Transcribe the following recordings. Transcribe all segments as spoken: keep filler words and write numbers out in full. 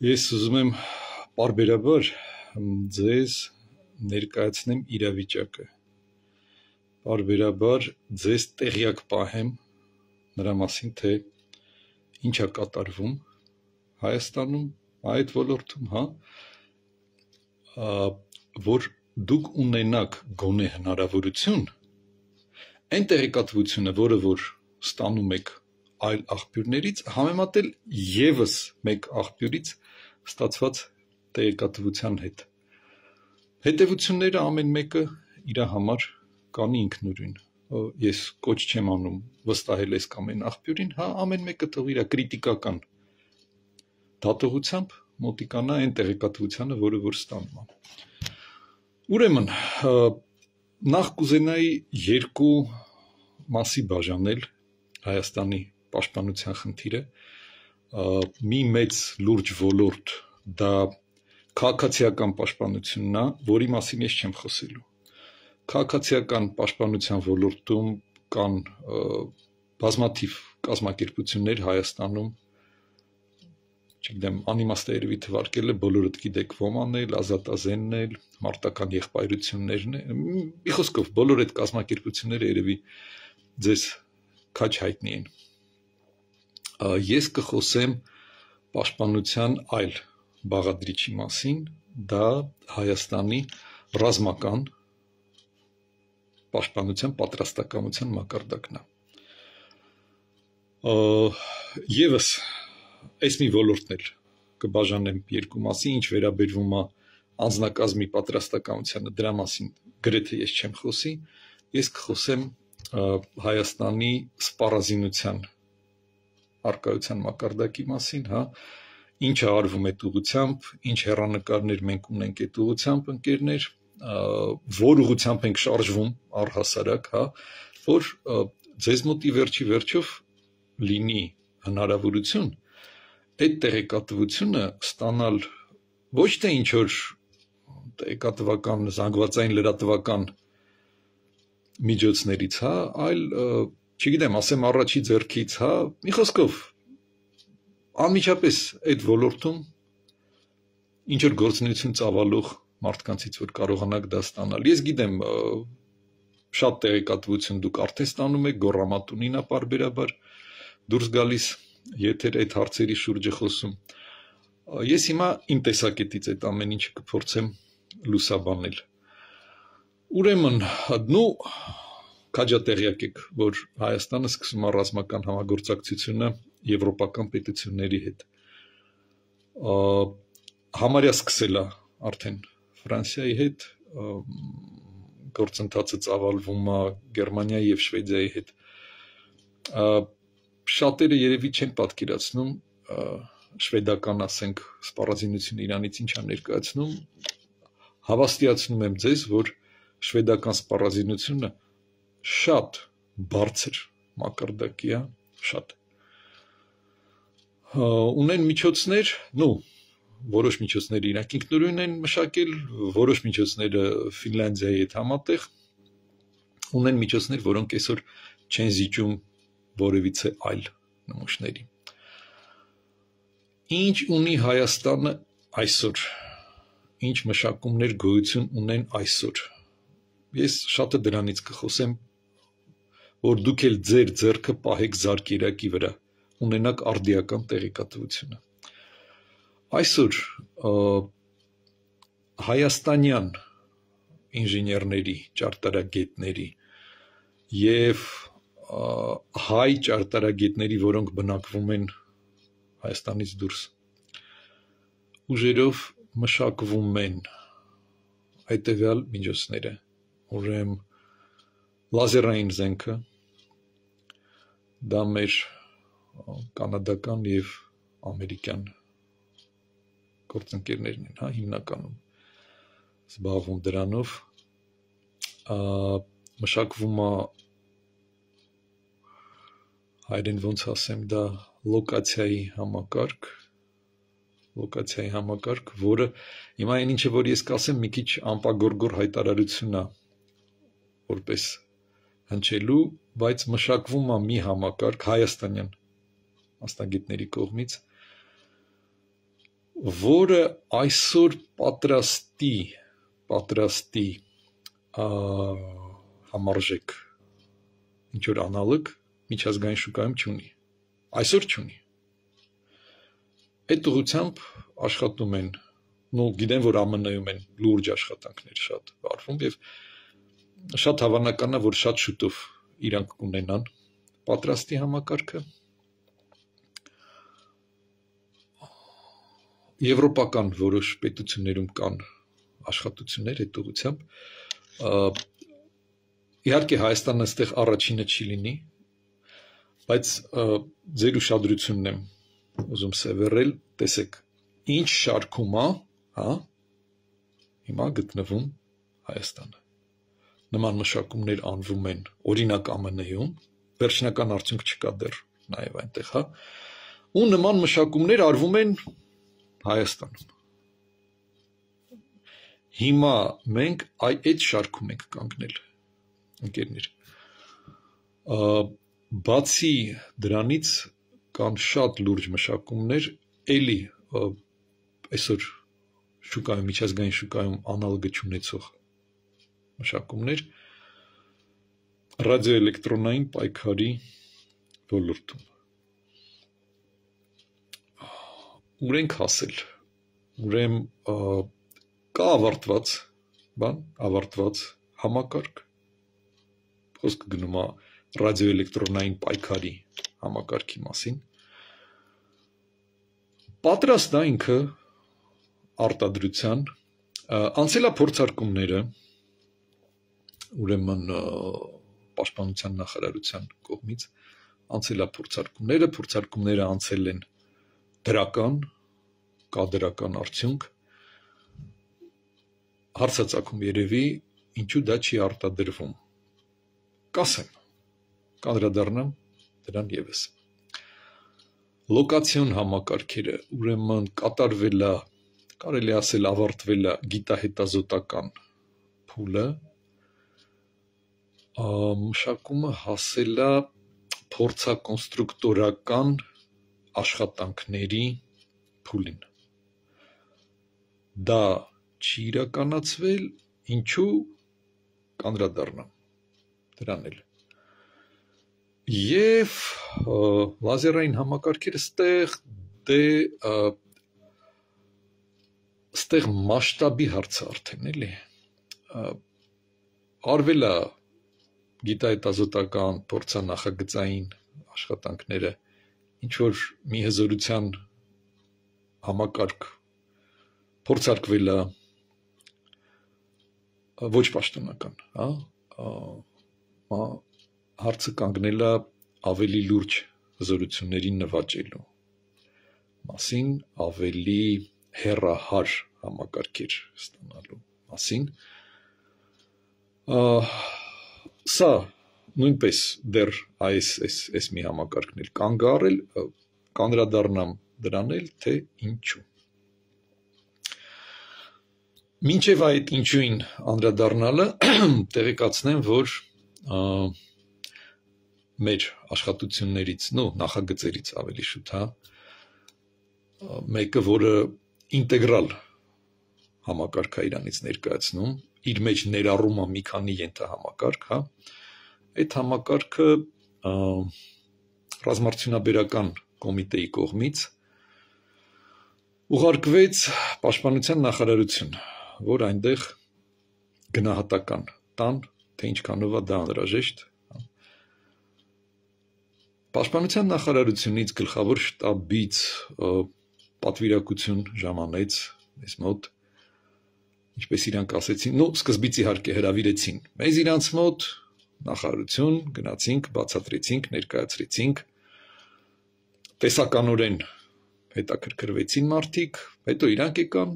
Ես ուզում եմ պարբերաբար ձեզ ներկայացնեմ իրավիճակը, պարբերաբար ձեզ տեղյակ պահեմ նրա մասին, թե ինչ է կատարվում Հայաստանում, այդ ոլորտում, հա, որ դուք ունենաք գոնե հնարավորություն, այն տեղեկատվությունը, որը որ ստանում եք այլ աղբյուրներից, համեմատել ևս մեկ աղբյուրից ստացված տեղեկատվության հետ։ Հետևությունները ամեն մեկը իր համար կանի ինքնուրույն։ Ես կոչ չեմ անում վստահել այս կամ այն աղբյուրին, հա, ամեն մեկը թող իր կրիտիկական դատողությամբ մոտիկանա այն տեղեկատվությանը, որը որ ստանում է։ Ուրեմն, նախ կուզենայի երկու մասի բաժանել Հայաստանի պաշտպանության խնդիրը, մի մեծ լուրջ ոլորտ դա քաղաքացիական պաշտպանությունն է, որի մասին ես չեմ խոսելու։ Քաղաքացիական պաշտպանության ոլորտում կան բազմաթիվ կազմակերպություններ Հայաստանում, չգիտեմ, անիմաստ է երևի թվարկելը, բոլորդ գիտեք ոմանն էլ, ազատազենն էլ, մարտական եղբայրություններն էլ, մի խոսքով բոլոր այդ կազմակերպությունները երևի ձեզ քաչ հայտնի են։ Ես կխոսեմ պաշտպանության այլ բաղադրիչի մասին, դա Հայաստանի ռազմական պաշտպանության պատրաստակամության մակարդակն է։ Եվս այս մի ոլորտն էլ կբաժանեմ երկու մասի, ինչ վերաբերվում է անձնակազմի պատրաստակամությանը, դրա մասին գրեթե ես չեմ խոսի, ես կխոսեմ Հայաստանի սպառազինության առկայության մակարդակի մասին, հա, ինչը արվում այդ ուղղությամբ, ինչ հեռանկարներ մենք ունենք այդ ուղղությամբ, ընկերներ, որ ուղղությամբ ենք շարժվում առհասարակ, հա, որ ձեզ մոտ ի վերջի վերջով լինի հնարավորություն այդ տեղեկատվությունը ստանալ ոչ թե ինչ որ տեղեկատվական զանգվածային լրատվական միջոցներից, հա, այլ չգիտեմ, ասեմ առաջի ձեռքից, հա, մի խոսքով անմիջապես այդ ոլորտում ինչ որ գործունեություն ծավալող մարդկանցից որ կարողանաք դա ստանալ։ Ես գիտեմ, շատ տեղեկատվություն դուք արդեն ստանում եք, գոռամատունին է պարբերաբար դուրս գալիս, եթեր այդ հարցերի շուրջը խոսում։ Ես հիմա իմ տեսակետից այդ ամեն ինչը կփորձեմ լուսաբանել։ Ուրեմն, նու քաջատեղյակ եք, որ Հայաստանը սկսում է ռազմական համագործակցությունը եվրոպական պետությունների հետ։ Համարյա սկսել է արդեն Ֆրանսիայի հետ, գործընթացը ծավալվում է Գերմանիայի եւ Շվեդիայի հետ։ Շատերը երևի չեն պատկերացնում շվեդական, ասենք, սպառազինությունը Իրանից ինչ է ներկայացնում, հավաստիացնում եմ ձեզ, որ շվեդական սպառազինությունը շատ բարձր մակարդակի է, շատ։ Ունեն միջոցներ, նու, որոշ միջոցները իրանք ինքնուրույն են մշակել, որոշ միջոցները Ֆինլանդիայի հետ համատեղ, ունեն միջոցներ, որոնք այսօր չեն զիջում որևիցե այլ նմուշների։ Ինչ ունի Հայաստանը այսօր, ինչ մշակումներ գոյություն ունեն այսօր։ Ես շատը դրանից կխոսեմ, որ դուք էլ ձեր ձեռքը պահեք զարկերակի վրա, ունենաք արդիական տեղեկատվությունը։ Այսօր հայաստանյան ինժեներների, ճարտարագետների և հայ ճարտարագետների, որոնք բնակվում են Հայաստանից դուրս, ուժերով մշակվում են հետևյալ միջոցները, ուրեմն լազերային զենքը, դա մեր կանադական և ամերիկյան գործընկերներն են, հա, հիմնականում զբաղվում դրանով, մշակվում է, հայերեն ոնց ասեմ, դա լոկացիայի համակարգ, լոկացիայի համակարգ, որը հիմա այն ինչը, որ ես կասեմ, մի քիչ անպագորգոր հայտարարություն է, որպես հնչելու, բայց մշակվում է մի համակարգ հայաստանյան մասնագետների կողմից, որը այսօր պատրաստի, պատրաստի համարժեք ինչ-որ անալոգ միջազգային շուկայում չունի, այսօր չունի, այդ ուղղությամբ աշխատում են, նու գիտեն, որ ԱՄՆ-ում են լուրջ աշխատանքներ շատ վարվում և շատ հավանական է, որ շատ շուտով իրանք կունենան պատրաստի համակարգը, Եվրոպական որոշ պետություններում կան աշխատություններ այդ ուղղությամբ, իհարկե Հայաստանը այստեղ առաջինը չի լինի, բայց ձեր ուշադրությունն եմ ուզում սևեռել, տեսեք, ինչ շարքում է, հա, հիմա գտնվում Հայաստանը, նման մշակումներ անվում են օրինակ ԱՄՆ-ում, վերջնական արդյունք չկա դեռ նաև այնտեղ, հա, ու նման մշակումներ արվում են Հայաստանում, հիմա մենք այդ շարքում ենք կանգնել, ընկերներ, բացի դրանից կան շատ լուրջ մշակումներ, էլի այսօր շուկայում, միջազգային շուկայում անալոգը չունեցող մշակումներ, ռադիոէլեկտրոնային պայքարի ոլորտում, ուր ենք հասել, ուրեմն կա ավարտված, բան, ավարտված համակարգ, խոսքը գնում է ռադիոէլեկտրոնային պայքարի համակարգի մասին, պատրաստ է ինքը արտադրության, անցել է փորձարկումները, ուրեմն պաշտպանության նախարարության կողմից, անցել է փորձարկումները, փորձարկումները անցել են դրական, կա դրական արդյունք, հարցածագում երևի, ինչու դա չի արտադրվում, կասեմ, կանդրադառնամ դրան ևս, լոկացիոն համակարգերը, ուրեմն կատարվել է, կարելի ասել ավարտվել է գիտահետազոտական փուլը, մշակումը հասել է փորձակոնստրուկտորական աշխատանքների փուլին, դա չի իրականացվել, ինչու կանդրադառնամ դրան էլ, և լազերային համակարգերը ստեղ, դե, ստեղ մասշտաբի հարցը արդեն էլի, արվել է գիտահետազոտական փորձանախագծային աշխատանքները, ինչ-որ մի հզորության համակարգ փորձարկվել է ոչ պաշտոնական, հարցը կանգնել է ավելի լուրջ հզորություններին նվաճելու մասին, ավելի հեռահար համակարգեր ստանալու մասին, սա նույնպես դեռ այս մի համակարգն էլ կանգ է առել, կանդրադառնամ դրան էլ, թե ինչու։ Մինչև այդ ինչուին անդրադառնալը տեղեկացնեմ, որ մեր աշխատություններից, նո նախագծերից ավելի շուտ, հա, մեկը, որը ինտեգրալ համակարգ է իրանից ներկայացնում, իր մեջ ներառում է մի քանի ենթահամակարգ, հա, այդ համակարգը ռազմարդյունաբերական կոմիտեի կողմից ուղարկվեց պաշտպանության նախարարություն, որ այնտեղ գնահատական տան, թե ինչքանով է դա անհրաժեշտ։ Պաշտպանության նախարարությունից գլխավոր շտաբից պատվիրակություն ժամանեց մեզ մոտ, ինչպես իրանք ասեցին, նո սկզբից իհարկե հրավիրեցին մեզ իրանց մոտ, նախարարություն, գնացինք, բացատրեցինք, ներկայացրեցինք, տեսականորեն հետաքրքրվեցին մարդիկ, հետո իրանք եկան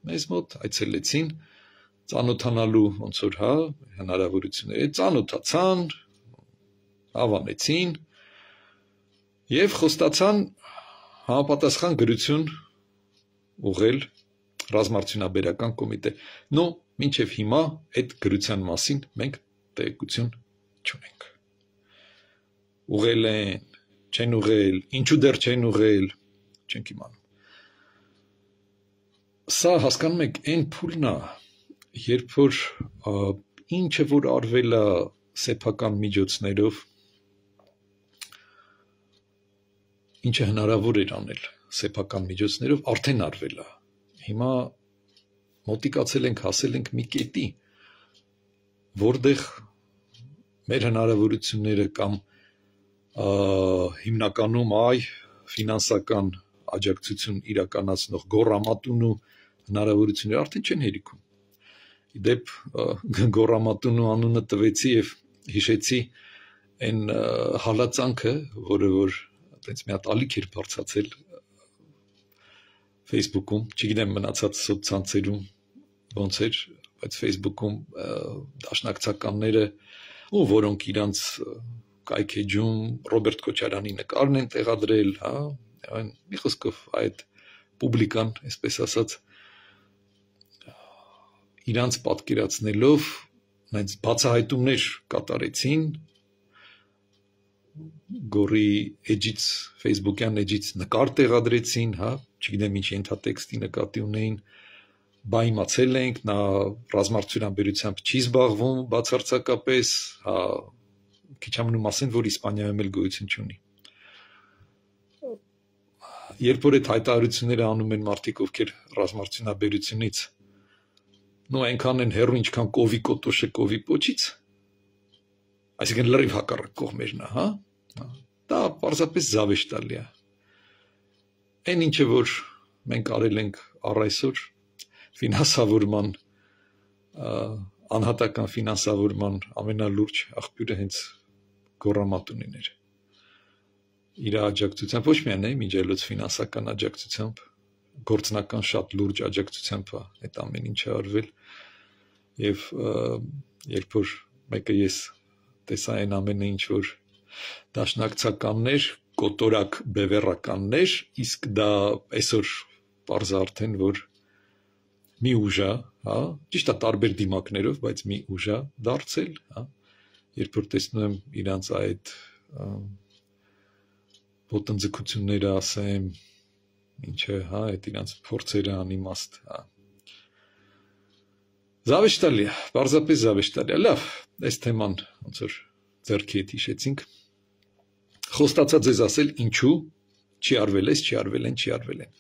մեզ մոտ, այցելեցին, ծանոթանալու ոնց որ հա, հնարավորությունները, ծանոթացան, հավանեցին և խոստացան համապատասխան գրություն ուղղել ռազմարդյունաբերական կոմիտե, նո մինչև հիմա այդ գրության մասին մենք տեղեկություն չունենք, ուղղել են, չեն ուղղել, ինչու դեռ չեն ուղղել, չենք իմանում։ Սա հասկանում եք այն փուլն է, երբ որ ինչը որ արվել է սեփական միջոցներով, ինչը հնարավոր էր անել սեփական միջոցներով, արդեն արվել է։ Հիմա մոտիկացել ենք, հասել ենք մի կետի, որտեղ մեր հնարավորությունները կամ հիմնականում այ ֆինանսական աջակցություն իրականացնող գոռամատունու հնարավորությունները արդեն չեն հերիքում։ Իդեպ գոռամատունու անունը տվեցի եւ հիշեցի այն հալածանքը, որը որ այդպես մի հատ ալիք էր բարձացել Facebook-ում, չգիտեմ մնացած սոցցանցերում ոնց էր, բայց Facebook-ում դաշնակցականները, ու որոնք իրանց կայքեջում Ռոբերտ Քոչարյանի նկարն են տեղադրել, հա, այն մի խոսքով այդ պուբլիկան, այսպես ասած, իրանց պատկերացնելով, այնց բացահայտումներ կատարեցին, գորի էջից, Facebook-յան էջից նկար տեղադրեցին, հա, չգիտեմ ինչ ենթատեքստի նկատի ունեին, բա իմացել ենք, նա ռազմարտությունաբերությամբ չի զբաղվում բացարձակապես, հա, քիչ ամնում ասեն, որ Իսպանիայում էլ գոյություն չունի։ Երբ որ այդ հայտարարությունները անում են մարդիկ, ովքեր ռազմարտությունաբերությունից, նո այնքան են հեռու, ինչքան կովի կոտոշը կովի պոչից, այսինքն լրիվ հակառակ կողմերն է, հա, դա պարզապես զավեշտալի է։ Այն ինչը որ մենք արել ենք առ այսօր ֆինանսավորման, անհատական ֆինանսավորման ամենալուրջ աղբյուրը հենց գոռամատունին էր։ Իր աջակցությամբ, ոչ միայն է միջելոց ֆինանսական աջակցությամբ, գործնական շատ լուրջ աջակցությամբ այդ ամեն ինչը արվել, եւ երբ որ մեկը ես տեսա այն ամենը ինչ որ դաշնակցականներ, կոտորակ բևեռականներ, իսկ դա այսօր պարզ արդեն որ մի ուժ է, հա, ճիշտ է տարբեր դիմակներով, բայց մի ուժ է դարձել, հա, երբ որ տեսնում եմ իրանց այդ ոտնձգությունները, ասեմ, ինչը, հա, այդ իրանց փորձերը անիմաստ, հա, զավեշտալի է, պարզապես զավեշտալի է, լավ, այս թեման ոնց որ ձեռքի հետ հիշեցինք, խոստացա ձեզ ասել ինչու չի արվել այս, չի արվել են, չի արվել են,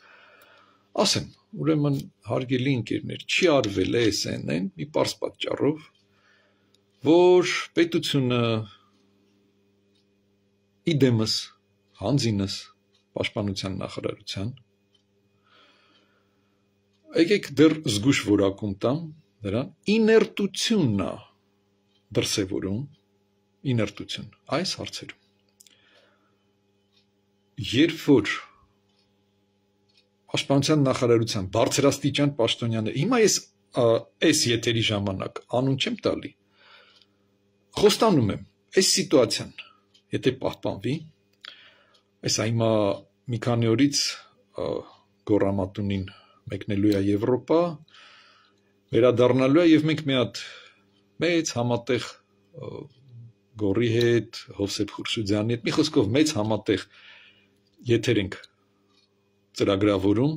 ասեմ, ուրեմն հարգելի ընկերներ, չի արվել է այս են, են մի պարզ պատճառով, որ պետությունը իդեմս, հանձինս, պաշտպանության նախարարության, եկեք դեռ զգուշ որակում տամ, նրան իներտությունն է դրսևորում, իներտություն, այս հարցերում, երբ որ Պաշտպանության նախարարության բարձրաստիճան պաշտոնյաներ, հիմա ես այս եթերի ժամանակ անուն չեմ տալի, խոստանում եմ, այս սիտուացիան, եթե պահպանվի, այս հիմա մի քանի օրից գոռամատունին մեկնելու է Եվրոպա, վերադառնալու է եւ մենք մի հատ մեծ համատեղ գորի հետ, Հովսեփ Խուրշուդյանի հետ, մի խոսքով մեծ համատեղ եթեր ենք ծրագրավորում,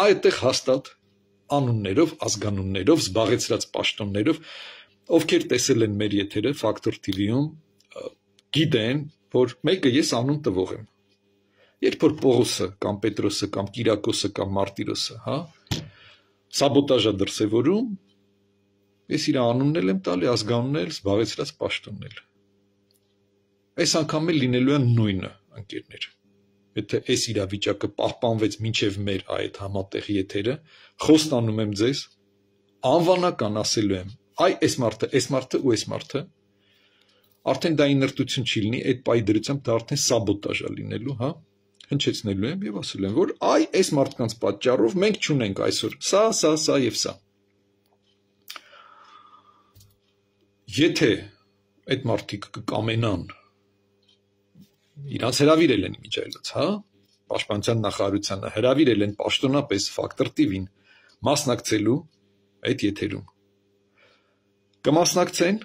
այդտեղ հաստատ անուններով, ազգանուններով, զբաղեցրած պաշտոններով, ովքեր տեսել են մեր եթերը Factor T V-ում, գիտեն, որ մեկը ես անուն տվող եմ։ Երբ որ Պողոսը կամ Պետրոսը կամ Կիրակոսը կամ Մարտիրոսը, հա, սաբոտաժա դրսևորում, ես իր անունն էլ եմ տալի, ազգանունն էլ, զբաղեցրած պաշտոնն էլ։ Այս անգամ էլ լինելու են նույնը, ընկերներ։ Եթե այս իրավիճակը պահպանվեց մինչև մեր այդ համատեղ եթերը, խոստանում եմ ձեզ, անվանական ասելու եմ, այ այս մարդը, այս մարդը ու այս մարդը, արդեն դա իներտություն չի լինի, այդ պայի դրությամբ դա արդեն սաբոտաժ է լինելու, հա, հնչեցնելու եմ եւ ասելու եմ, որ այ այս մարդկանց պատճառով մենք չունենք այսօր սա, սա, սա եւ սա։ Եթե այդ մարդիկ կկամենան իրանց հրավիրել են միջայլոց, հա, պաշտպանության նախարարությանը հրավիրել են պաշտոնապես Factor T V-ին մասնակցելու այդ եթերում։ Կմասնակցեն,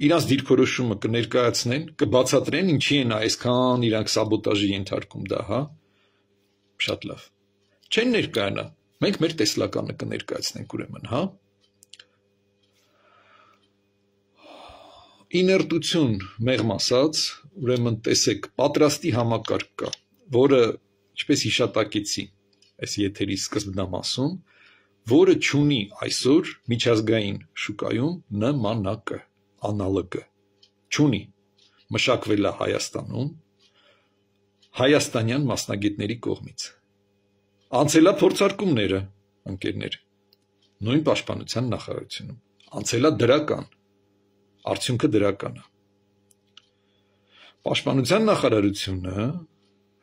իրանց դիրքորոշումը կներկայացնեն, կբացատրեն ինչի են այսքան իրանք սաբոտաժի ենթարկում դա, հա, շատ լավ։ Չեն ներկայանա, Մենք մեր տեսլականը կներկայացնենք ուրեմն, հա։ Իներտություն մեղմ ասած, ուրեմն տեսեք, պատրաստի համակարգ կա, որը, ինչպես հիշատակեցի, այս եթերի սկզբնամասում, որը չունի այսօր միջազգային շուկայում նմանակը, անալոգը, չունի, մշակվել է Հայաստանում, հայաստանյան մասնագետների կողմից, անցել է փորձարկումները, ընկերներ, նույն պաշտպանության նախարարությունում, անցել է դրական, արդյունքը դրական է, պաշտպանության նախարարությունը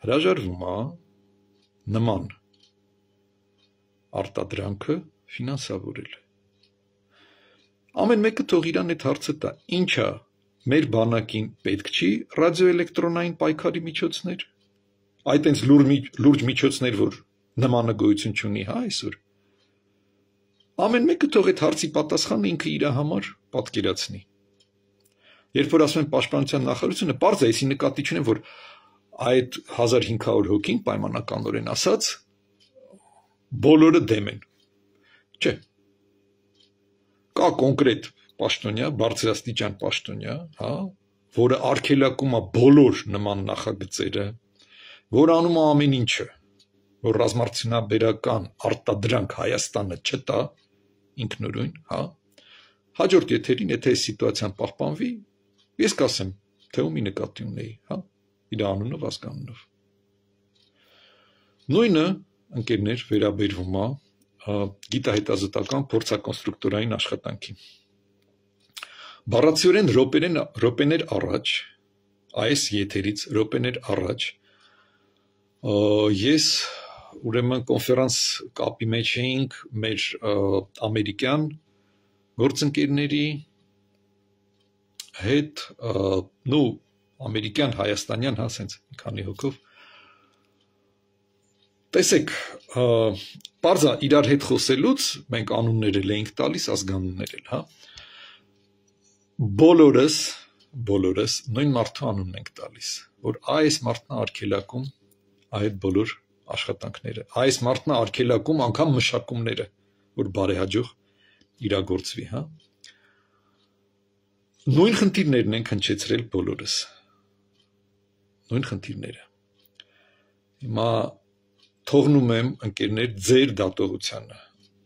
հրաժարվում է նման արտադրանքը ֆինանսավորել, ամեն մեկը թող իրան այդ հարցը տա, ինչա մեր բանակին պետք չի ռադիոէլեկտրոնային պայքարի միջոցներ, այդ այնց լուրջ միջոցներ, որ նմանը գոյություն չունի, հա, այսօր, ամեն մեկը թող այդ հարցի պատասխանը ինքը իր համար պատկերացնի, երբ որ ասում են պաշտպանության նախարարությունը, պարզ է, այսի նկատի չունեմ, որ այդ հազար հինգ հարյուր հոգին պայմանականորեն ասած, բոլորը դեմ են, չէ, կա կոնկրետ պաշտոնյա, բարձրաստիճան պաշտոնյա, հա, որը արգելակում է բոլոր նման նախագծերը, որ անում է ամեն ինչը, որ ռազմարտությունաբերական արտադրանք Հայաստանը չտա, ինքնուրույն, հա, հաջորդ եթերին, եթե այս սիտուացիան պահպանվի, ես կասեմ, թե ումի նկատի ունեի, հա, իր անունով, ազգանունով։ Նույնը, ընկերներ, վերաբերվում է գիտահետազոտական փորձակոնստրուկտորային աշխատանքին։ Բառացիորեն րոպեներ առաջ, այս եթերից րոպեներ առաջ, ես ուրեմն կոնֆերանս կապի մեջ էինք մեր ամերիկյան գործընկերների հետ, նու ամերիկյան, հայաստանյան, հա, սենց քանի հոգով, տեսեք, պարզա իրար հետ խոսելուց, մենք անուններ էլ էինք տալիս, ազգանուններ էլ, հա, բոլորս, բոլորս նույն մարդու անունն ենք տալիս, որ այս մարդն արգելակում այդ բոլոր աշխատանքները, այս մարդն արգելակում անգամ մշակումները, որ բարեհաջող իրագործվի, հա, նույն խնդիրներն ենք հնչեցրել բոլորս, նույն խնդիրները, հիմա թողնում եմ, ընկերներ, ձեր դատողությանը,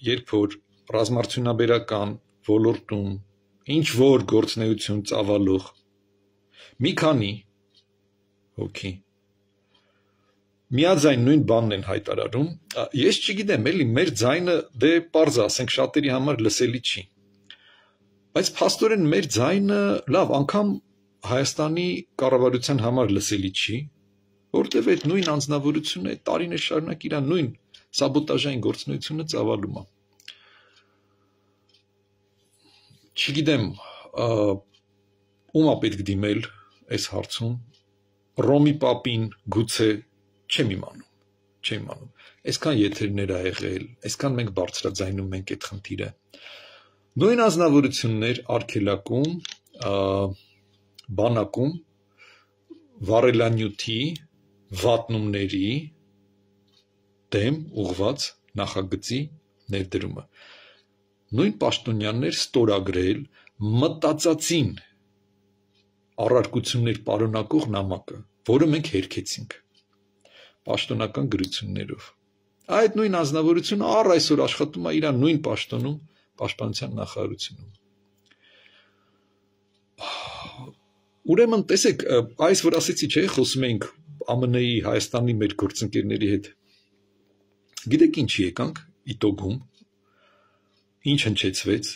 երբ որ ռազմարտությունաբերական ոլորտում ինչ որ գործնեություն ծավալող մի քանի հոգի միաձայն նույն բանն են հայտարարում, ես չգիտեմ, էլի մեր ձայնը դե պարզ է, ասենք շատերի համար լսելի չի, բայց փաստորեն մեր ձայնը լավ, անգամ Հայաստանի կառավարության համար լսելի չի, որտև այդ նույն անձնավորությունը այդ տարիներ շարունակ իր նույն սաբոտաժային գործունեությունը ծավալում է։ Չգիտեմ, ում է պետք դիմել այս հարցում, Ռոմի պապին գուցե չեմ իմանում, չեմ իմանում, այսքան եթերներ ա եղել, այսքան մենք բարձրաձայնում ենք այդ խնդիրը, նույն անձնավորություններ արգելակում, բանակում, վառելանյութի, վատնումների դեմ ուղված նախագծի ներդրումը, նույն պաշտոնյաներ ստորագրել մտածածին առարկություններ պարունակող նամակը, որը մենք հերքեցինք պաշտոնական գրություններով, այդ նույն անձնավորությունը առ այսօր աշխատում է իր նույն պաշտոնում պաշտպանության նախարարությունում, ուրեմն տեսեք, այս որ ասեցի չէ, խոսում էինք ԱՄՆ-ի Հայաստանի մեր գործընկերների հետ, գիտեք ինչի եկանք իտոգում, ինչ հնչեցվեց,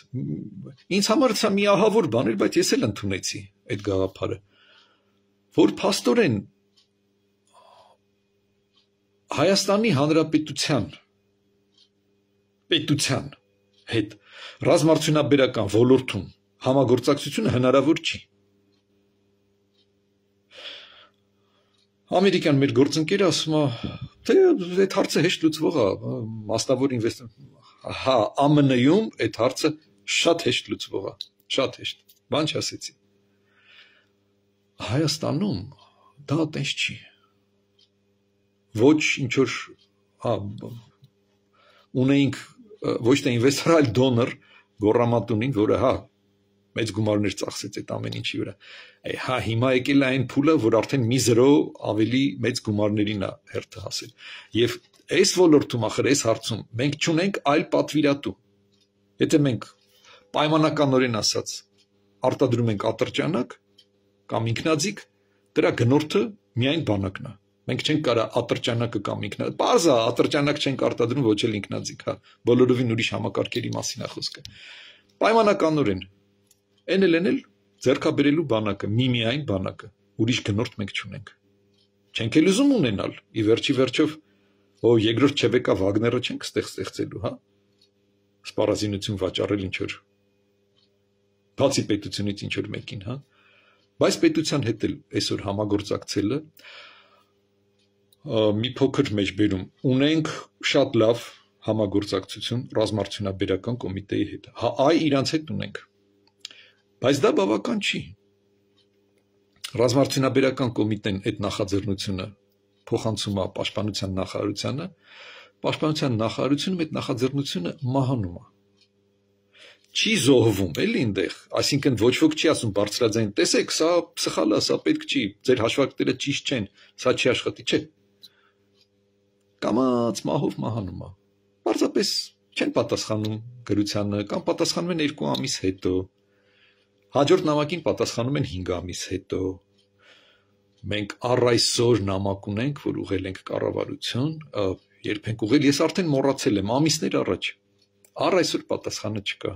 ինձ համար սա մի ահավոր բան էր, բայց ես էլ ընդունեցի այդ գաղափարը, որ փաստորեն Հայաստանի Հանրապետության պետության հետ ռազմարտությունաբերական ոլորտում համագործակցությունը հնարավոր չի։ Ամերիկյան մեր գործընկերը ասում է, թե այդ հարցը հեշտ լուծվող է, մասնավոր ինվեստոր, հա, ԱՄՆ-ում այդ հարցը շատ հեշտ լուծվող է, շատ հեշտ, բան չասեցի։ Հայաստանում դա տես չի։ Ոչ ինչ որ, հա, ունեինք ոչ թե ինվեստոր, այլ դոնոր Գոռամատունին, որը հա մեծ գումարներ ծախսեց այդ ամեն ինչի վրա։ Հա հիմա եկել է այն փուլը, որ արդեն մի զրո ավելի մեծ գումարներին է հերթը հասել։ Եվ այս ոլորտում ախր այս հարցում մենք չունենք այլ պատվիրատու։ Եթե մենք պայմանականորեն ասած արտադրում ենք ատրճանակ կամ ինքնաձիգ, դրա գնորդը միայն բանակն է։ Մենք չենք կարող ատրճանակը կամ ինքնաձիգ, բարձա ատրճանակ չենք արտադրում, ոչ էլ ինքնաձիգ, հա, բոլորովին ուրիշ համակարգերի մասին է խոսքը։ Պայմանականորեն Էն էլ էնել ձեռքաբերելու բանակը, միմիայն բանակը, ուրիշ գնորդ մենք չունենք։ Չենք էլ ուզում ունենալ, ի վերջի վերջով, օ երկրորդ Չեբեկա Վագները չենք ստեղ ստեղծելու, հա։ Սպառազինություն վաճառել ինչ որ բացի պետությունից ինչ որ մեկին, հա։ Բայց պետության հետ էլ այսօր համագործակցելը մի փոքր մեջբերում ունենք շատ լավ համագործակցություն ռազմարտությունաբերական կոմիտեի հետ։ Հա, այ իրանց հետ ունենք։ Բայց դա բավական չի։ Ռազմարտությունաբերական կոմիտեն այդ նախաձեռնությունը փոխանցում է պաշտպանության նախարարությանը, պաշտպանության նախարարությունում այդ նախաձեռնությունը մահանում է։ Չի զոհվում, էլի այնտեղ, այսինքն ոչ ոք չի ասում բարձրաձայն, տեսեք, սա սխալ է, սա պետք չի, ձեր հաշվարկները ճիշտ չեն, սա չի աշխատի, չէ։ Կամաց մահով մահանում է։ Պարզապես չեն պատասխանում գրությանը կամ պատասխանում են երկու ամիս հետո։ Հաջորդ նամակին պատասխանում են հինգ ամիս հետո։ Մենք առ այսօր նամակ ունենք, որ ուղղել ենք կառավարություն, երբ ենք ուղղել, ես արդեն մոռացել եմ, ամիսներ առաջ։ Առ այսօր պատասխանը չկա։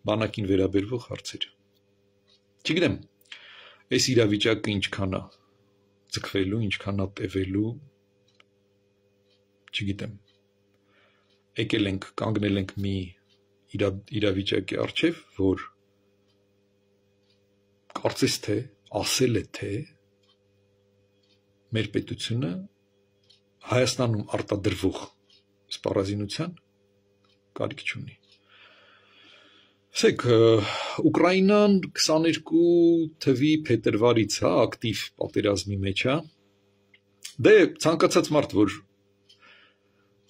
Բանակին վերաբերվող հարցեր։ Չգիտեմ, այս իրավիճակը ինչքան է ձգվելու, ինչքան է տևելու, չգիտեմ։ Եկել ենք, կանգնել ենք մի իրա, իրավիճակի առջև, որ կարծես թե, ասել է թե մեր պետությունը Հայաստանում արտադրվող սպառազինության կարիք չունի։ Ասեք, Ուկրաինան քսաներկու թվականի փետրվարից հա ակտիվ պատերազմի մեջ է։ Դե ցանկացած մարդ, որ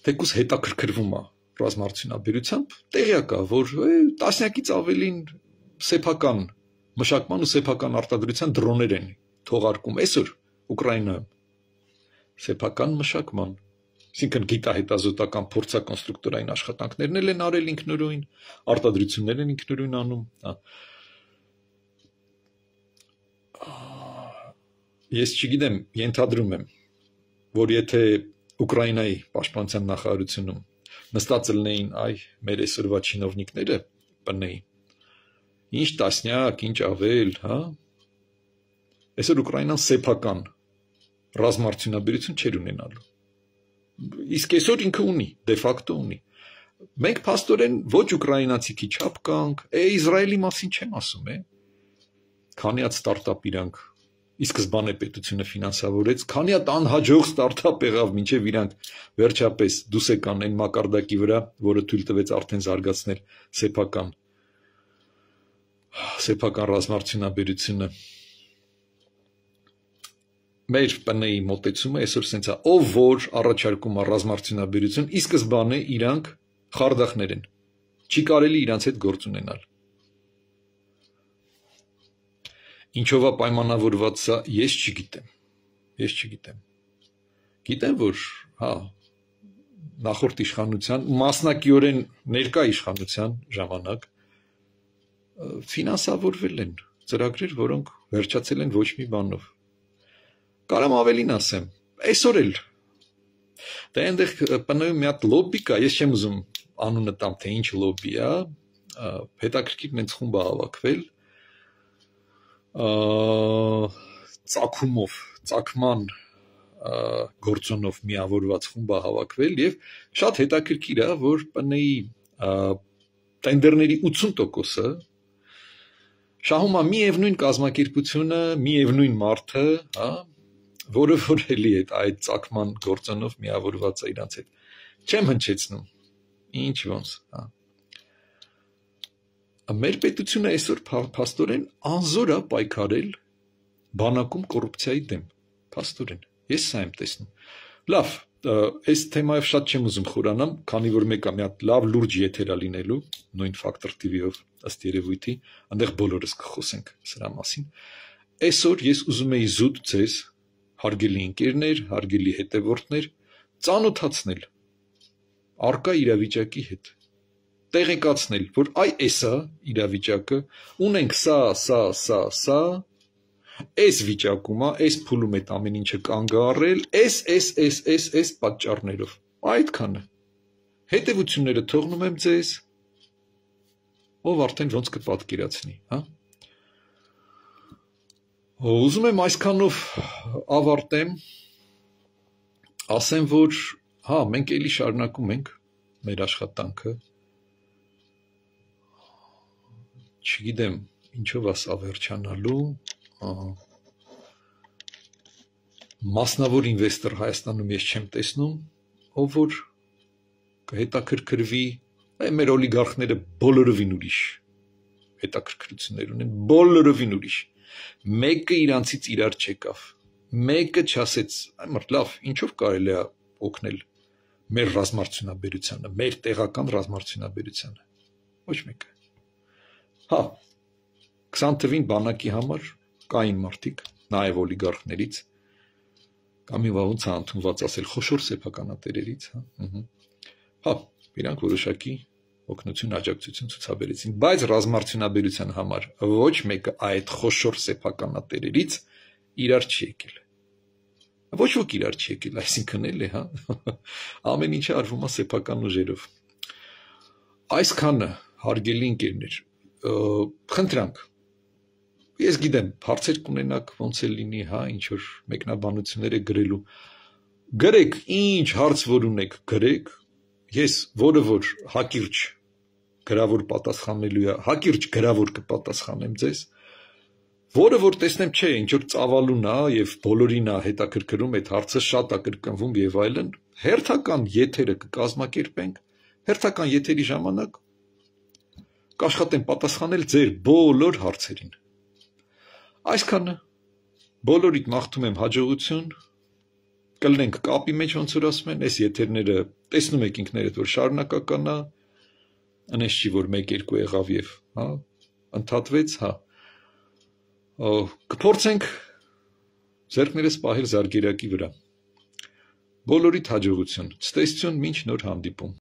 թեկուզ հետաքրքրվում է ռազմարտությունաբերությամբ, տեղյակ է, որ տասնյակից ավելին սեփական մշակման ու սեփական արտադրության դրոներ են թողարկում այսօր Ուկրաինայում։ Սեփական մշակման, այսինքն գիտահետազոտական փորձակոնստրուկտորային աշխատանքներն են արել ինքնուրույն, արտադրություններ են ինքնուրույն անում, հա։ Ես չգիտեմ, ենթադրում եմ, որ եթե Ուկրաինայի պաշտպանության նախարարությունում նստած լինեին այ մեր այսօրվա չինովնիկները, բնեին, ինչ տասնյակ, ինչ ավել, հա։ Այսօր Ուկրաինան սեփական ռազմարտությունաբերություն չէր ունենալու։ Իսկ այսօր ինքը ունի, դե ֆակտո ունի։ Մենք փաստորեն ոչ ուկրաինացիքի չափ կանք, է Իսրայելի մասին չեմ ասում, է։ Քանի հատ ստարտափ իրանք ի սկզբանե պետությունը ֆինանսավորեց, քանի հատ անհաջող ստարտափ եղավ, մինչև իրանք վերջապես դուս եկան այն մակարդակի վրա, որը թույլ տվեց արդեն զարգացնել սեփական սեփական ռազմարտությունաբերությունը։ Մեր ՊՆ-ի մոտեցումը այսօր սենց է, ով որ առաջարկում է ռազմարտությունաբերություն, ի սկզբանե իրանք խարդախներ են, չի կարելի իրանց հետ գործ ունենալ։ Ինչով է պայմանավորված սա, ես չգիտեմ, ես չգիտեմ։ Գիտեմ, որ հա, նախորդ իշխանության, մասնակիորեն ներկա իշխանության ժամանակ ֆինանսավորվել են ծրագրեր, որոնք վերջացել են ոչ մի բանով։ Կարամ ավելին ասեմ, այսօր էլ, դա այնտեղ ՊՆ-ում մի հատ լոբի կա, ես չեմ ուզում անունը տամ, թե ինչ լոբի է, հետաքրքիր նենց խումբ է հավաքվել, ծագումով, ծագման գործոնով միավորված խումբ է հավաքվել եւ շատ հետաքրքիր է, որ ՊՆ-ի տենդերների ութսուն տոկոսը շահում է միևնույն կազմակերպությունը, միևնույն մարդը, հա, որը որ էլի է այդ ծագման գործոնով միավորված է իրանց հետ։ Չեմ հնչեցնում։ Ինչ ոնց, հա։ Մեր պետությունը այսօր փաստորեն անզոր է պայքարել բանակում կոռուպցիայի դեմ, փաստորեն։ Ես սա եմ տեսնում։ Լավ, Այս թեմայով շատ չեմ ուզում խորանամ, քանի որ մեկը մի հատ լավ լուրջ եթերա լինելու, նույն Factor T V-ով ըստ երևույթի, այնտեղ բոլորս կխոսենք սրա մասին։ Այսօր ես ուզում եի զուտ ձեզ, հարգելի ընկերներ, հարգելի հետևորդներ, ծանոթացնել առկա իրավիճակի հետ, տեղեկացնել, որ այ էսա իրավիճակը, ունենք սա, սա, սա, սա, այս վիճակում է, այս փուլում այդ ամեն ինչը կանգ առել, այս, այս, այս, այս, այս պատճառներով, այդքանը, հետևությունները թողնում եմ ձեզ, ով արդեն ոնց կպատկերացնի, հա? Ուզում եմ այսքանով ավարտեմ, ասեմ, որ, հա, մենք էլի շարունակում ենք մեր աշխատանքը, չգիտեմ, ինչով ասա վերջանալու, մասնավոր ինվեստոր Հայաստանում ես չեմ տեսնում, ով որ կհետաքրքրվի, մեր օլիգարխները բոլորովին ուրիշ հետաքրքրություններ ունեն, բոլորովին ուրիշ, մեկը իրանցից իրար չեկավ, մեկը չասեց, այմարդ լավ, ինչով կարելի է օգնել մեր ռազմարդյունաբերությանը, մեր տեղական ռազմարդյունաբերությանը, ոչ մեկը, հա, քսան թվին բանակի համար կային մարդիկ, նաև օլիգարխներից, կամ մի վաղունց է ընդունված ասել խոշոր սեփականատերերից, հա, իրանք որոշակի օգնություն, աջակցություն ցուցաբերեցին, բայց ռազմարդյունաբերության համար ոչ մեկը այդ խոշոր սեփականատերերից իրար չի եկել, ոչ ոք իրար չի եկել, այսինքն էլ է, հա, ամեն ինչը արվում է սեփական ուժերով, այսքանը հարգելի ընկերներ, խնդրանք, ես գիտեմ, հարցեր կունենաք ոնց է լինի, հա, ինչ-որ մեկնաբանություններ է գրելու, գրեք, ինչ հարց որ ունեք, գրեք, ես որը որ հակիրճ գրավոր պատասխանելու է, հակիրճ գրավոր կպատասխանեմ ձեզ, որը որ տեսնեմ չէ, ինչ-որ ծավալուն է և բոլորին է հետաքրքրում, այդ հարցը շատ է կրկնվում և այլն, հերթական եթերը կկազմակերպենք, հերթական եթերի ժամանակ կաշխատեմ պատասխանել ձեր բոլոր հարցերին։ Այսքանը, բոլորիդ մաղթում եմ հաջողություն, կլնենք կապի մեջ, ոնց որ ասում են, այս եթերները տեսնում եք ինքներդ, որ շարունակական է, անես չի, որ մեկ երկու եղավ և ընդհատվեց, հա, կփորձենք ձեռքներս պահել զարգերակի վրա, բոլորիդ հաջողություն, ցտեսություն, մինչ նոր հանդիպում։